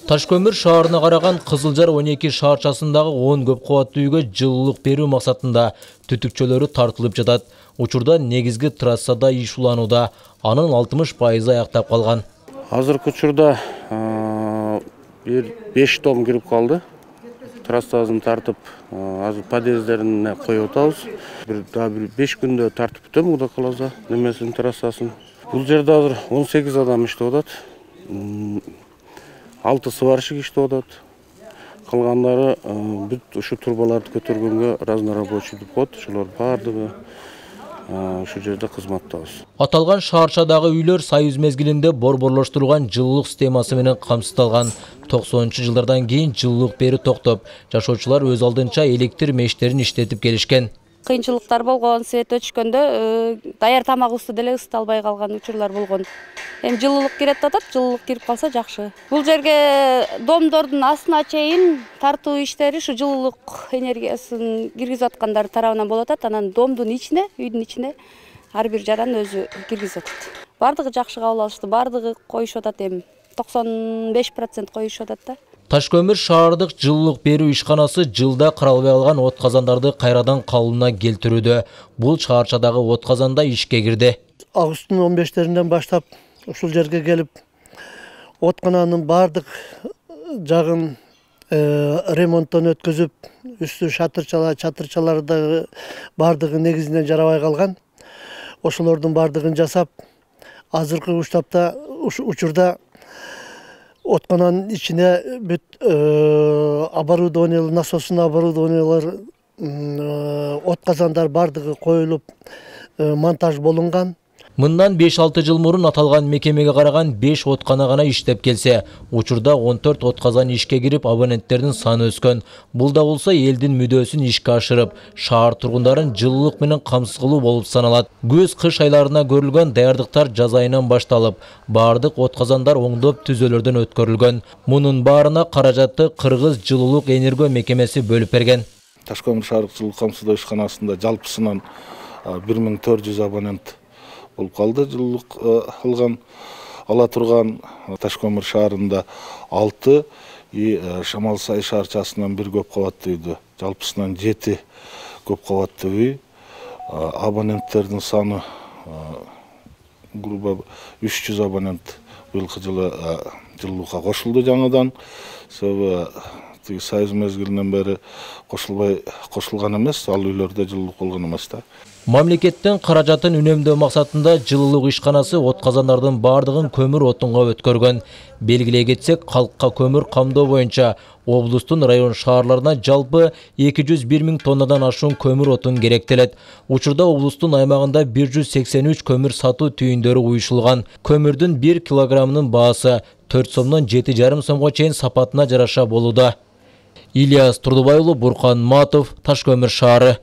Таш көмүр шаарына караган Кызылжар 12 шаарчасындагы 10 көп кабаттуу үйгө жылуулук берүү максатында түтүкчөлөрү тартылып жатат. Учурда негизги трассада иш уланууда, анын 60% аяктап калган. Азыркы учурда 5 том кирип калды. Трассасын тартып, азыр подъездерине коюп атабыз. Бир 5 күндө тартып бүтөм, Кудай кааласа, немесин трассасын. Бул жерде азыр 18 адам иштеп атат. 6 сварщик иштеп атат. Калгандары бүт ушу турбаларды көтөргөнгө разнорабочий деп коет. Ошолор бардыгы ушу жерде кызматтабыз. Аталган шаарчадагы үйлөр союз мезгилинде борборлоштурулган жылуулук системасы менен камсыздалган. 90-жылдардан кийин жылуулук берүү токтоп, жашоочулар өз алдынча электр мештерин иштетип келишкен. Кыйынчылыктар болгон, свет өчкөндө даяр тамагыбызды деле ысыта албай калган учурлар болгон. Эми жылуулук кирет атат, жылуулук кирип калса жакшы. Бул жерге домдордун астына чейин тартуу иштери ушу жылуулук энергиясын киргизип аткандар тарабынан болуп атат. Анан домдун ичине, үйдүн ичине ар бир жаран өзү киргизип атат. Бардыгы жакшы кабыл алышты, бардыгы коюшуп атат эми. 95% коюшуп атат да. Таш көмүр шаардык жылуулук берүү ишканасы жылда каралбай калган от казандарды кайрадан калыбына келтирүүдө. Бул шаарчадагы от казанда ишке кирди. Августтун 15-леринен баштап ушул жерге келип, откананын бардык жагын ремонттон өткөзүп, үстү чатырчаларды бардыгы негизинен жарабай калган. Ошолордун бардыгын жасап, азыркы учурда откананын ичине бүт оборудованиялар, насостун оборудованиялар, от казандар бардыгы коюлуп, монтаж болунган. Мындан 5-6 жыл мурун аталган мекемеге караган 5 откана гана иштеп келсе, учурда 14 отказан ишке кирип, абоненттердин саны өскөн. Бул да болсо элдин мүдөөсүн ишке ашырып, шаар тургундарын жылуулук менен камсыз кылуу болуп саналат. Көз-кыш айларына көрүлгөн даярдыктар жаз айынан башталып, бардык отказандар оңдоп түзөлөрдөн өткөрүлгөн. Мунун баарына каражатты Кыргыз жылуулук энерго мекемеси бөлүп берген. Таш көмүр шаардык жылуулук камсыздоо ишканасында жалпысынан 1400 абонент болуп калды. Жылуулук ала турган Таш көмүр шаарында 6 Шамал Сай шаарчасынан 1 көп кабаттуу үйдө жалпысынан 7 көп кабаттуу үй. Абоненттердин саны грубо 300 абонент быйылкы жылы жылуулукка кошулду жаңыдан. Себеби союз мезгилинен бери кошулган эмес, ал үйлөрдө жылуулук болгон эмес да. Мамлекеттен каражатын үнөмдөө максатында жылуулук ишканасы от казандардын бардыгын көмүр отунга өткөргөн. Белгилей кетсек, калкка көмүр камдоо боюнча облустун район шаарларына жалпы 201 000 тоннадан ашуун көмүр отун керектелет. Учурда облустун аймагында 183 көмүр сатуу түйүндөрү уюшулган. Көмүрдүн 1 килограммынын баасы 4 сомдон 7,5 сомго чейин сапатына жараша болууда. Ильяс Турдубай уулу, Буркан Матов, Таш көмүр шаары.